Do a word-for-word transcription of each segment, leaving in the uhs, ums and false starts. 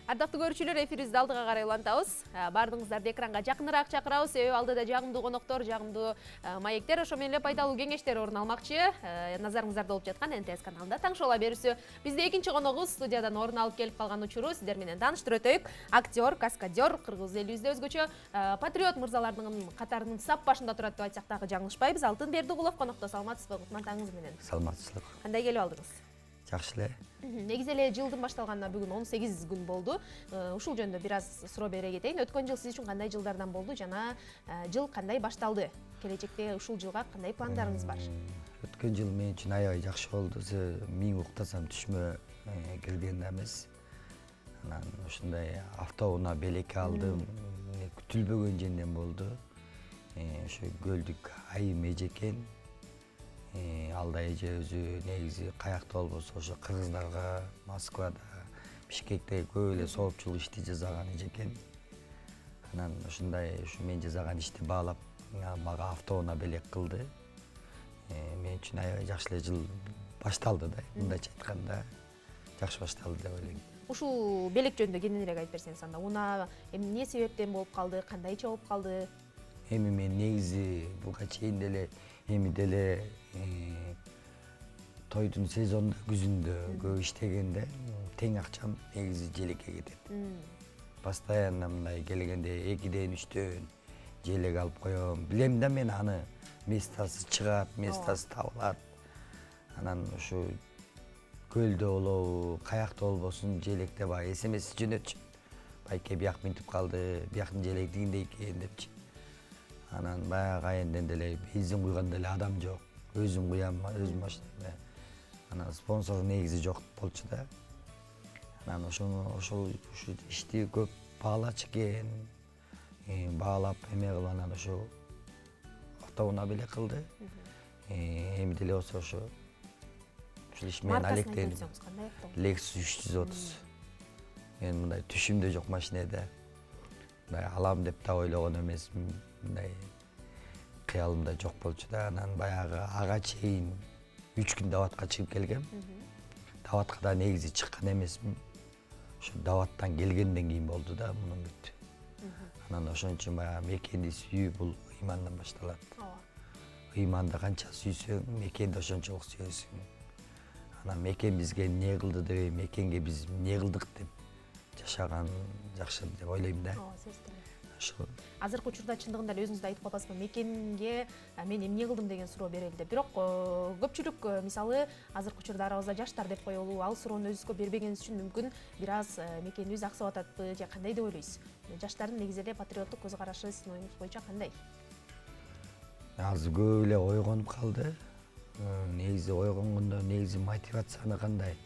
Ардактуу көрүүчүлөр, эфирибизди алдыга карай улантабыз. Баардыгыңыздарды экранга жакыныраак чакырабыз. Себеби алдыда жагымдуу коноктор, жагымдуу маектер, ошо менен эле пайдалуу кеңештер орун алмакчы. Назарыңыздарда болуп жаткан эн тэ эс каналында таң шола берүүсү. Бизде экинчи коногубуз студиядан орун алып келип калган учуру сиздер менен тааныштырып өтөйүк. Актер, каскадер, кыргыз элибизде өзгөчө патриот мырзалардын катарынын сап башында турат деп айтсак дагы жаңылышпайбыз. Алтын Бердигулов конокто. Саламатсызбы? Кутман таңыңыз менен. Саламатсызбы. Кандай келип алдыңыз? Жакшы эле. Негизи эле жылдын башталганына бүгүн он сегиз күн болду. Ушул жөнүндө бир аз суроо бере кетейин. Өткөн жыл сиз үчүн кандай жылдардан болду жана жыл кандай башталды? Келечекте ушул жылга кандай пландарыңыз бар? Өткөн жыл мен үчүн аябай жакшы болду. Миң уктасам түшмө келген эмес. Анан ушундай автоунаа белек алдым. Күтүлбөгөн жерден болду. Ошо көлдүк айым эжекен. Алда эже өзү негизи каякта болбосо ошо кыргыздарга Москвада, Бишкекте көп эле соопчулук ишти жасаган эжекен. Анан ушундай ушу мен жасаган ишти баалап мага автоунаа белек кылды. Мен үчүн аябай жакшы эле жыл башталды да, мындайча айтканда жакшы башталды деп ойлойм. Ушул белек жөнүндө кененирээк айтып берсеңиз анда. Унаа эмне себептен болуп калды, кандайча болуп калды? Эми мен негизи буга чейин деле эми деле тойдун сезонунда күзүндө көп иштегенде тең акчам негизи желекке кетет. Постоянно мындай келгенде экиден үчтөн желек алып коем. Билем да мен аны местасы чыгат, местасы табылат. Анан ушу көлдө болобу, каякта болбосун желекте баягы эс эм эс жөнөтчү. Байке бияк минтип калды, бияктын желеги тигиндей экен депчи. Анан баягы айынден деле бензин куйганда деле адам жок. Өзүм куям, өзүм баштайм. Анан спонсор негизи жок болчу да. Анан ошону ошол ушу ишти көп баалачу экен. Баалап эме кылып анан ошо автоунаа белек кылды. Эми деле болсо ошо ушул иш менен алектенип. Lexus үч жүз отуз. Мен мындай түшүмдө жок машина да. Мындай алам деп да ойлогон эмесмин. Мындай кыялымда жок болчу да. Анан баягы ага чейин үч күн даватка чыгып келгем. Даватка да негизи чыккан эмесмин. Ошо даваттан келгенден кийин болду да мунун бүт. Анан ошон үчүн баягы мекенди сүйүү бул ыймандан башталат. Ыйманды канча сүйсөң, мекенди ошончолук сүйөсүң. Анан мекен бизге эмне кылды деп, мекенге биз эмне кылдык деп жашаган жакшы деп ойлойм да. Ошо. Азыркы учурда чындыгында эле өзүңүз да айтып калбайсызбы, мекенге мен эмне кылдым деген суроо берели деп. Бирок көпчүлүк мисалы азыркы учурда арабызда жаштар деп коелу, ал суроону өзүбүзгө бербегенибиз үчүн мүмкүн бир аз мекенибиз аксап ататпы же кандай деп ойлойсуз? Жаштардын негизи эле патриоттук көз карашы сиздин оюңуз боюнча кандай? Азыр көп эле ойгонуп калды. Негизи ойгонгондо негизи мотивацияны кандай?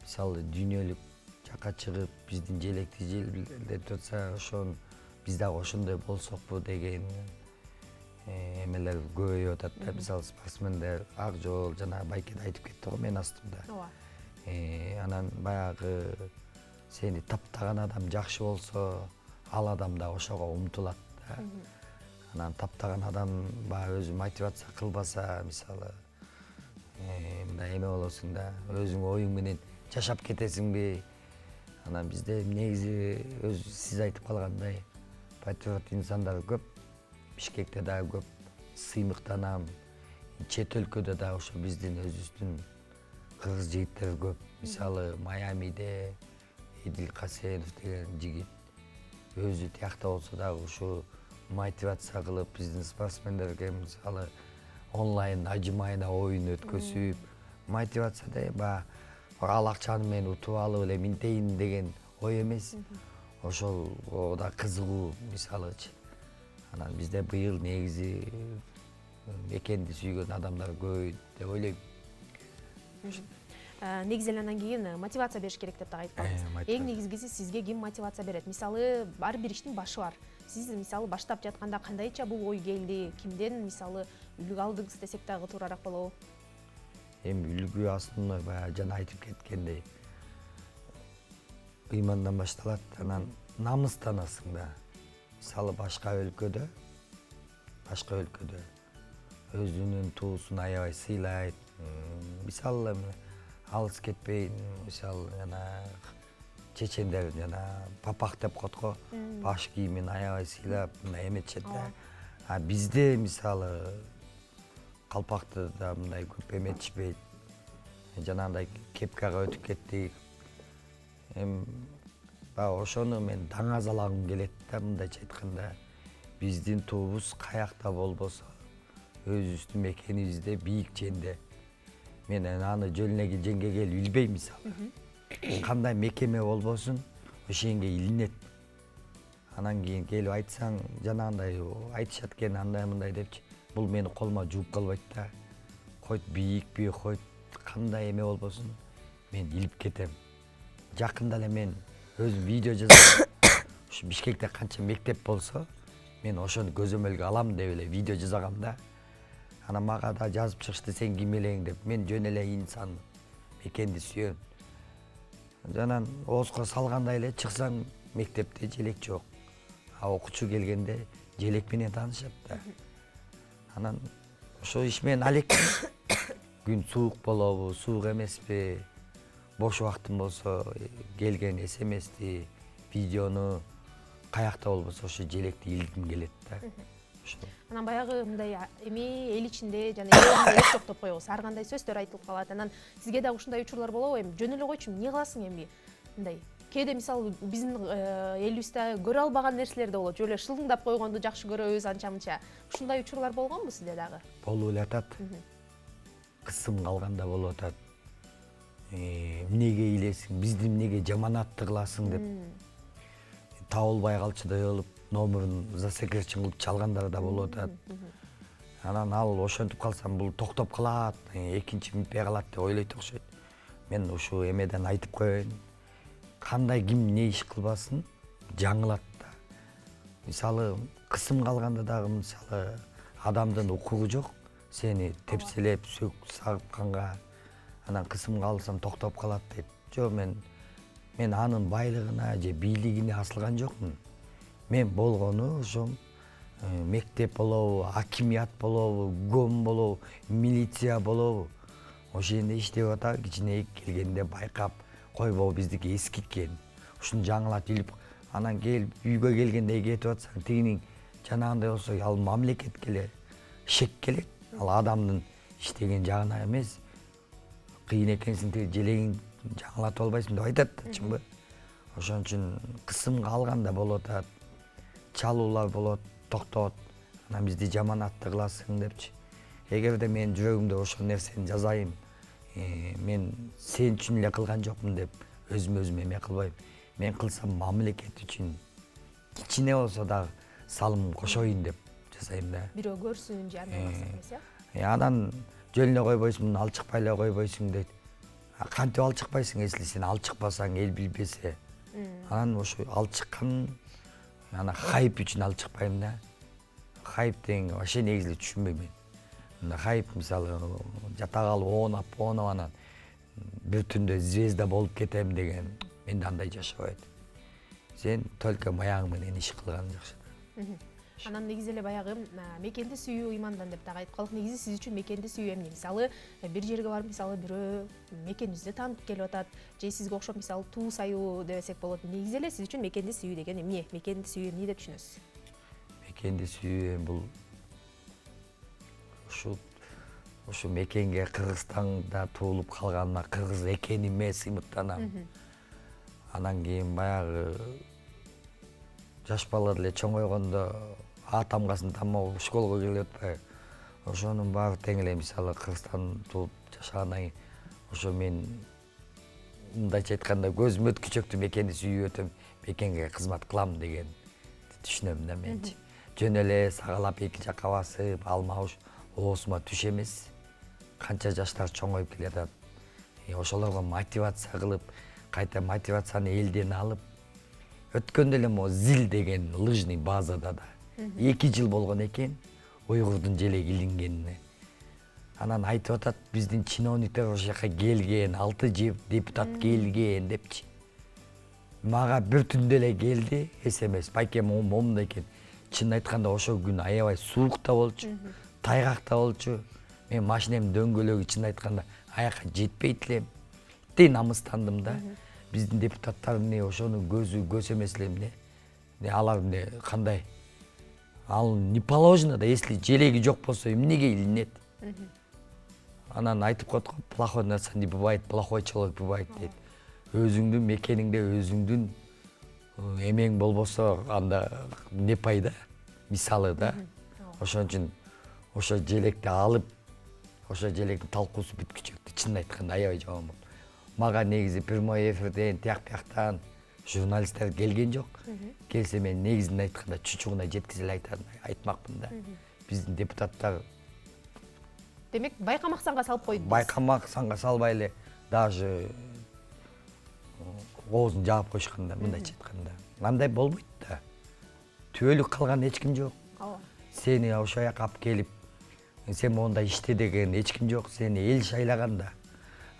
Мисалы дүйнөлүк жака чыгып биздин желекти желдеп жатса, ошон биз дагы ошондой болсокпу деген эмелер көбөйүп атат да. Мисалы спортсмендер ак жол жана байкеде айтып кетти го мен астымда. Анан баягы сени таптаган адам жакшы болсо, ал адам да ошого умтулат да. Анан таптаган адам баягы өзү мотивация кылбаса, мисалы мындай эме болосуң да, өзүң оюң менен жашап кетесиңби? Анан бизде негизи өзү сиз айтып калгандай патриот инсандар көп. Бишкекте дагы көп сыймыктанам. Чет өлкөдө да ошо биздин өзүбүздүн кыргыз жигиттери көп. Мисалы Майамиде Эдил Касенов деген жигит өзү тиякта болсо дагы ушу мотивация кылып биздин спортсмендерге мисалы онлайн ажымайына оюн өткөзүп, мотивация да ал акчаны мен утуп алып эле минтейин деген ой эмес. Ошол да кызыгуу мисалычы. Анан бизде быйыл негизи мекенди сүйгөн адамдар көбөйдү деп ойлойм. Негизи эле андан кийин мотивация бериш керек деп да айтып калдыңыз. Эң негизгиси сизге ким мотивация берет? Мисалы ар бир иштин башы бар. Сиз мисалы баштап жатканда кандайча бул ой келди? Кимден мисалы үлгү алдыңыз десек дагы туурааак болобу? Эми үлгү астында баягы жана айтып кеткендей ыймандан башталат. Анан намыстанасың да. Мисалы башка өлкөдө, башка өлкөдө өзүнүн туусун аябай сыйлайт. Мисалы алыс кетпейин, мисалы жана чечендер жана папак деп коет го, баш кийимин аябай сыйлап мындай эметишет да. А бизде мисалы калпакты да мындай көп эметишпейт. Жанагындай кепкага өтүп кеттик. Эми баягы ошону мен даңазалагым келет да, мындайча айтканда. Биздин туубуз каякта болбосо, өзүбүздүн мекенибизде бийик жерде. Мен аны жөнүнө жеңгеге билбейм мисалы. Кандай мекеме болбосун, ошенге илинет. Анан кийин келип айтсаң, жанагындай айтышат экен андай мындай депчи. Бул мени колума жууп калбайт да. Койт бийикпи, койт кандай эме болбосун, мен илип кетем. Жакында эле мен өзүм видео жазам. Ушу Бишкекте канча мектеп болсо, мен ошону көзөмөлгө алам деп эле видео жазгам да. Анан мага да жазып чыгышты, сен ким элең деп. Мен жөн эле инсан, мекенди сүйөм. Жанан оозго салгандай эле чыксаң, мектепте желек жок. А окуучу келгенде желек менен таанышат да. Анан ошо иш менен алек. Күн суук болобу, суук эмеспи, бош убактым болсо келген смсти, видеону каякта болбосо ошо желекти илгим келет да. Анан баягы мындай эми эл ичинде жана эл жок деп коебуз. Ар кандай сөздөр айтылып калат. Анан сизге да ушундай учурлар болобу? Эми жөн эле койчу, эмне кыласың эми? Мындай кээде мисалы биздин элибизде көрө албаган нерселер да болот. Жөн эле шылыңдап койгонду жакшы көрөбүз анча-мынча. Ушундай учурлар болгонбу сизде дагы? Болуп эле атат. Кысым калганда болуп атат. Эмнеге илесиң, бизди эмнеге жаманатты кыласың деп. Табылбай калчудай болуп, номерун засекречен кылып чалгандар да болуп атат. Анан ал ошентип калсам бул токтоп калат, экинчи минтпей калат деп ойлойт окшойт. Мен ушу эмеден айтып коеюн. Кандай ким эмне иш кылбасын, жаңылат да. Мисалы, кысым калганда дагы мисалы адамдын укугу жок. Сени тепселеп, сөк сагып канга, анан кысым калсам токтоп калат дейт. Жок, мен мен анын байлыгына же бийлигине асылган жокмун. Мен болгону ошо мектеп болобу, акимият болобу, гом болобу, милиция болобу. Ошенде иштеп атат, кичине келгенде байкап, койбоо биздики эскиткен. Ушуну жаңылат илип, анан келип үйгө келгенде кетип атсаң, тигинин жанагындай болсо, ал мамлекетке эле шек келет. Ал адамдын иштеген жагына эмес. Кыйын экенсиң, тиги желегиң жаңылатып албайсың деп айтат да, чынбы? Ошон үчүн кысым калганда болуп атат. Чалуулар болот, токтот. Анан бизди жаманатты кыласың депчи. Эгерде мен жүрөгүмдө ошол нерсени жазайын, мен сен үчүн эле кылган жокмун деп өзүм өзүм эме кылбайм. Мен кылсам мамлекет үчүн кичине болсо дагы салым кошоюн деп жасайм да. Бирөө көрсүн же андай кылсаң эмес, э? Анан жөн эле койбойсуң, алчыкпай эле койбойсуң дейт. Кантип алчыкпайсың, если сен алчыкпасаң, эл билбесе. Анан ошо алчыккан, ана хайп үчүн алчыкпайм да. Хайп деген вообще негизи түшүнбөйм мен. Мына хайп мисалы жата калып оонап, оонап анан бир түндө звезда болуп кетем деген менде андай жашабайт. Сен только маягың менен иш кылганың жакшы. Анан негизи эле баягы мекенди сүйүү ыймандан деп дагы айтып калдык. Негизи сиз үчүн мекенди сүйүү эмне? Мисалы бир жерге барып, мисалы бирөө мекенибизди таанып келип атат, же сизге окшоп мисалы туу саюу дебесек болот. Негизи эле сиз үчүн мекенди сүйүү деген эмне? Мекенди сүйүү эмне деп түшүнөсүз? Мекенди сүйүү бул ушу ушу мекенге Кыргызстанда туулуп калганыма кыргыз экениме сыймыктанам. Анан кийин баягы жаш балдар эле чоңойгондо А тамгасын тамоо школго келип атпайбы. Ошонун баары тең эле мисалы Кыргызстан туулуп жашагандан кийин ошо мен мындайча айтканда көзүм өткүчөктү мекенди сүйүп өтөм, мекенге кызмат кылам деген түшүнөм да менчи. Жөн эле сагалап эки жакка басып, алмабуш оосума түш эмес. Канча жаштар чоңоюп келатат. Ошолорго мотивация кылып, кайта мотивацияны элден алып, өткөндө эле мо зил деген лыжный базада да эки жыл болгон экен уйгурдун желеги илингенине. Анан айтып атат, биздин чиновниктер ошол жака келген, алты депутат келген депчи. Мага бир түндө эле келди смс. Байке момундай экен. Чынын айтканда ошол күнү аябай суук да болчу, тайгак да болчу. Мен машинемдин дөңгөлөгү чынын айтканда аяка жетпейт элем. Тей намыстандым да. биздин депутаттар эмне ошону көзү көз эмес эле эмне алар эмне кандай ал не положено да, если желеги жок болсо эмнеге илинет? Анан айтып коет го, плохой нарса не бывает, плохой человек бывает дейт. Өзүңдүн мекениңде өзүңдүн эмең болбосо анда не пайда? Мисалы да. Ошон үчүн ошо желекти алып, ошо желектин талкуусу бүткүчөктү чынын айтканда аябай жаман болду. Мага негизи прямой эфирден тияк бияктан журналисттер келген жок. Келсе мен негизин айтканда чучугуна жеткизе эле айтмакмын да. Биздин депутаттар демек байкамак санга салып койду. Байкамак санга салбай эле даже оозун жаап коюшканда, мындайча айтканда. Андай болбойт да. Түбөлүк калган эч ким жок. Сени ошол жака алып келип, сен монда иште деген эч ким жок. Сени эл шайлаганда,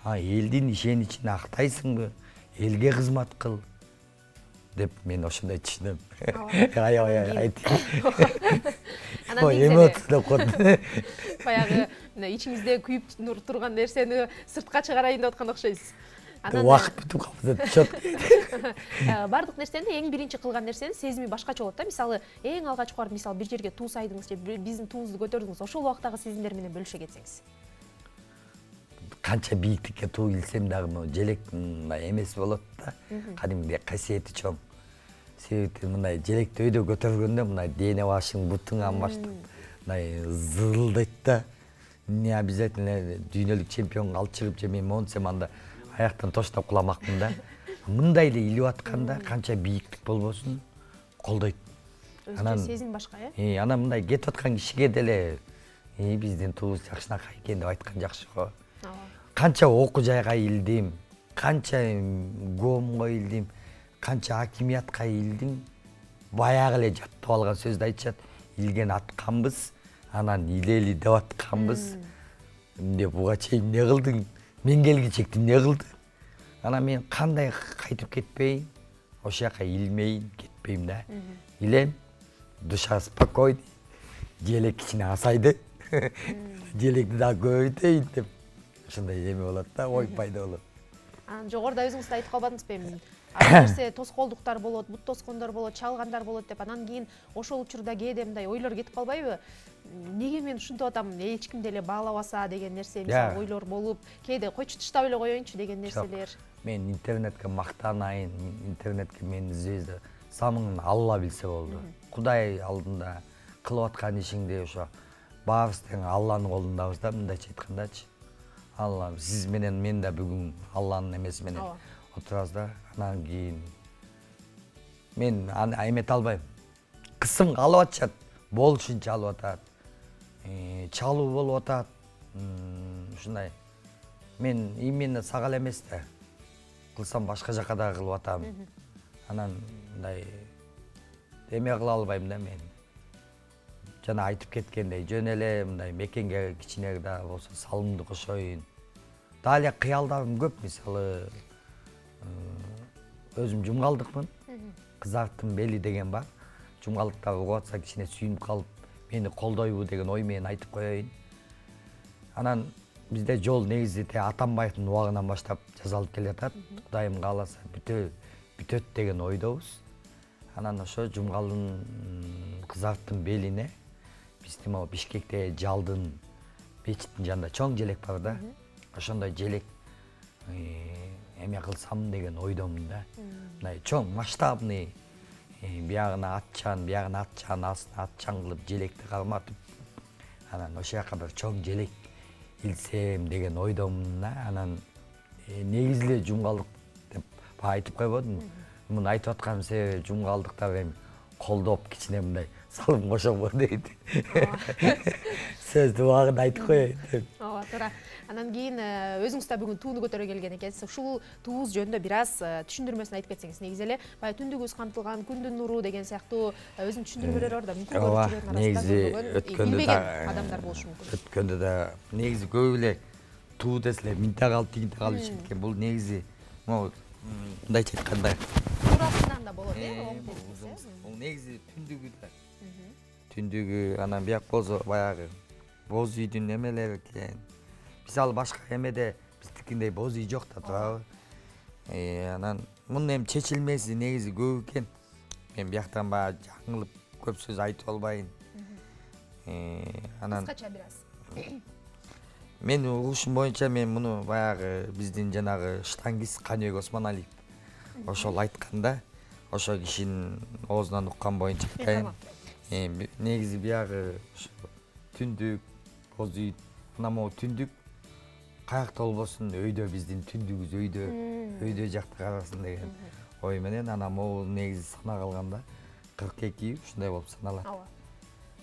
а элдин ишеничин актайсыңбы? Элге кызмат кыл деп мен ошондой түшүнөм. Аябай айтып. Ой, эмоциялап калдым. Баягы ичиңизде күйүп турган нерсени сыртка чыгарайын деп аткан окшойсуз. Убакыт бүтүп калды, чөп. Бардык нерсени эң биринчи кылган нерсени сезими башкача болот да. Мисалы, эң алгач барып, мисалы, бир жерге туу сайдыңыз же биздин туубузду көтөрдүңүз, ошол убактагы сезимдер менен бөлүшө кетсеңиз. Канча бийиктикке туу илсем дагы желек эмес болот да. Кадимгидей касиети чоң. Себеби мындай желекти өйдө көтөргөндө мындай дене башың, бутуңан баштап мындай зырылдайт да. Не обязательно дүйнөлүк чемпионго алып чыгып же мен монсем анда аяктан тоштоп куламакмын да. Мындай эле илип атканда канча бийиктик болбосун колдойт. Анан сезим башка, э? Анан мындай кетип аткан кишиге деле биздин туубуз жакшынакай экен деп айткан жакшы го. Канча окуу жайга илдим, канча гомго илдим, канча хакимиятка илдим. Баягы эле жаттап алган сөздү айтышат. Илген атканбыз, анан илели деп атканбыз. Эмне буга чейин эмне кылдың? Мен келгичек эмне кылды? Анан мен кандай кайтып кетпейин, ошол жака илмейин, кетпейм да. Илем, душа спокойный, желек кичине асайды. Желекти дагы көбөйтөйүн деп. Ошондой эме болот да, ой пайда болот. Анан жогоруда өзүңүз да айтып калбадыңызбы эми? Ар нерсе тоскоолдуктар болот, бут тоскондор болот, чалгандар болот деп, анан кийин ошол учурда кээде мындай ойлор кетип калбайбы? Неге мен ушинтип атам, эч ким деле баалабаса деген нерсе, мисалы, ойлор болуп, кээде койчу тыштап эле коеюнчу деген нерселер. Мен интернетке мактанайын, интернетке мени звезда самың Алла билсе болду. Кудай алдында кылып аткан ишиңди ошо баарыбыз тең Алланын колундабыз да, мындайча айткандачы. Алла, сиз менен мен да бүгүн Алланын эмеси менен отурабыз да. Анан кийин мен эмете албайм. Кысым алып атышат, болушунча алып атат. Чалуу болуп атат. Ушундай. Мен именно сага эле эмес да. Кылсам башка жака да кылып атам. Анан мындай эме кыла албайм да мен. Жана айтып кеткендей, жөн эле мындай мекенге кичине да болсо салымды кошоюн. Дагы эле кыялдарым көп, мисалы өзүм жумгалдыкмын. Кызарттын бели деген бар. Жумгалдыктар угуп атса кичине сүйүнүп калып, мени колдойбу деген ой менен айтып коеюн. Анан бизде жол негизи Атамбаевдин убагынан баштап жасалып келе жатат. Кудайым кааласа бүтөт деген ойдобуз. Анан ошо жумгалдын кызарттын белине биздин могу Бишкекте жалдын мечиттин жанында чоң желек бар да. Ошондой желек эме кылсам деген ойдомун да. Мындай чоң масштабный, биягына атчан, биягына атчан, астына атчан кылып желекти карматып, анан ошол жака бир чоң желек илсем деген ойдомун да. Анан негизи эле жумгалдык деп айтып койбодумбу? Муну айтып атканымдын себеби жумгалдыктар эми колдоп кичине мындай салым кошобу дейт. Сөздү убагында айтып коеюн деп. Ооба, туура. Анан кийин өзүңүз да бүгүн тууну көтөрө келген экенсиз. Ушул туубуз жөнүндө бир аз түшүндүрмөсүн айтып кетсеңиз. Негизи эле баягы түндүгүбүз камтылган, күндүн нуру деген сыяктуу өзүнүн түшүндүрмөлөрү бар да. Мүмкүн көрүүчүлөрдүн арасында билбеген адамдар болушу мүмкүн. Өткөндө да негизи көп эле туу деселе минте калып, тигинте калып ишенет экен. Бул негизи могу мындайча айтканда туурасынан да болот, э? Бул негизи түндүгү да. Түндүгү анан бияк болсо баягы боз үйдүн эмелери экен. Мисалы башка эмеде биздикиндей боз үй жок да, туурабы? Анан мунун эми чечилмеси негизи көп экен. Мен бияктан баягы жаңылып көп сөз айтып албайын. Анан кыскача бир аз. Мен угушум боюнча мен муну баягы биздин жанагы штангист Каныбек Осмоналиев ошол айтканда, ошо кишинин оозунан уккан боюнча айткан. Негизи биягы түндүк, боз үй, мына могу түндүк каякта болбосун, өйдө биздин түндүгүбүз өйдө, өйдө жакта калсын деген ой менен анан могу негизи санап алганда кырк эки ушундай болуп саналат.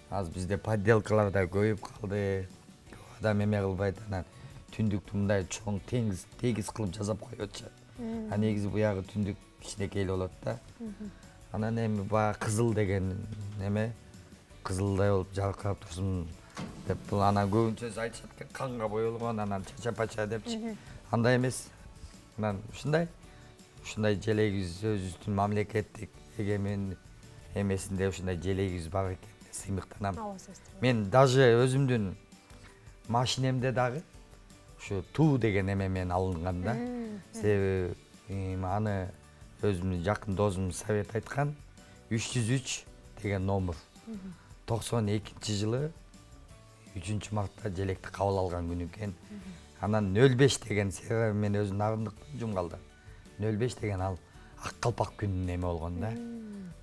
Азыр бизде подделкалар да көбөйүп калды. Көп адам эме кылбайт, анан түндүктү мындай чоң теңиз тегиз кылып жасап коюп атышат. А негизи буягы түндүк кичинекей болот да. Анан эми баягы кызыл деген эме кызылдай болуп жаркырап турсун деп бул анан көбүнчө айтышат экен, канга боелгон, анан чача-пача депчи. Андай эмес. Анан ушундай ушундай желегибиз өзүбүздүн мамлекеттик эгемен эмесинде ушундай желегибиз бар экен. Сыймыктанам. Мен даже өзүмдүн машинемде дагы ушу туу деген эме менен алынган да. Себеби аны өзүмдүн жакын досум совет айткан үч жүз үч деген номер. токсон экинчи жылы үчүнчү мартта желекти кабыл алган күнү экен. Анан нөл беш деген себеби мен өзүм нарындык жумгалда. нөл беш деген ал ак калпак күнүнүн эме болгон да.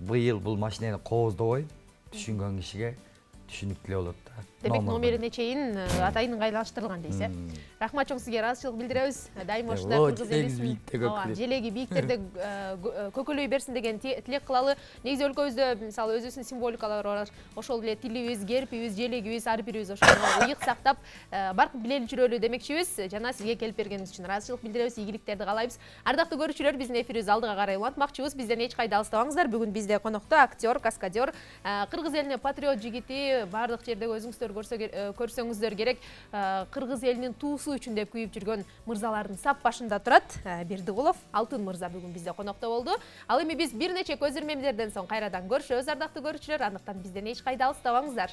Быйыл бул машинени кооздобой түшүнгөн кишиге түшүнүктүү болот да. Демек номерине чейин атайын ыңгайлаштырылган дейсиз э? Рахмат чоң сизге, ыраазычылык билдиребиз. Дайыма ушундай кыргыз элисин желеги бийиктерде көкөлөй берсин деген тилек кылалы. Негизи өлкөбүздө мисалы өзүбүздүн символикалар бар. Ошол эле тилибиз, гербибиз, желегибиз ар бирибиз ошону ыйык сактап баркып билели жүрөлү демекчибиз. Жана сизге келип бергениңиз үчүн ыраазычылык билдиребиз, ийгиликтерди каалайбыз. Ардактуу көрүүчүлөр, биздин эфирибиз алдыга карай улантмакчыбыз. Бизден эч кайда алыстабаңыздар. Бүгүн бизде конокто актер, каскадер, кыргыз элине патриот жигити, бардык жерде өзүңүздөр көрсөңүздөр керек, кыргыз элинин туусу үчүн деп күйүп жүргөн мырзалардын сап башында турат Бердигулов, Алтын мырза бүгүн бизде конокто болду. Ал эми биз бир нече көзүрмемдерден соң кайрадан көрүшөбүз, ардактуу көрүүчүлөр. Андыктан бизден эч кайда алыстабаңыздар.